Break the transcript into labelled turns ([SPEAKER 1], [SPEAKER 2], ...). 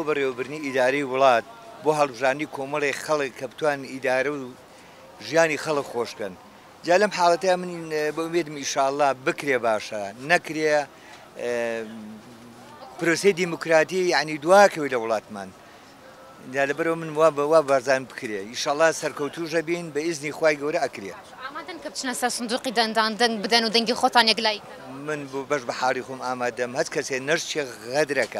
[SPEAKER 1] بەڕێوەبردنی ئیدارەی وڵات، بۆ هەڵبژاردنی کۆمەڵێک خەڵک کە بتوانن ئیدارە و ژیانی خەڵک خۆش بکەن. جا لەم حاڵەتەیا من بە ئومێدم ئیشاڵڵا بکرێ باشە، نەکرێ پرۆسەی دیموکراتی یعنی دواکەوێت لە وڵاتمان. جا لەبەرئەوە من وا وا بارزانم بکرێ ئیشەڵا سەرکەوتووش ئەبین بە ئیزنی خوای گەورە ئەکرێ.
[SPEAKER 2] باشە ئامادەن کە بچنە سەر سندوقی دەنگدان دەنگ بدەن و دەنگی خۆتان یەکلایی کەنەوە؟
[SPEAKER 1] من بۆ بەش بە حاڵی خۆم ئامادەم هەچ کەسێ نەشچێ غەدرەکا.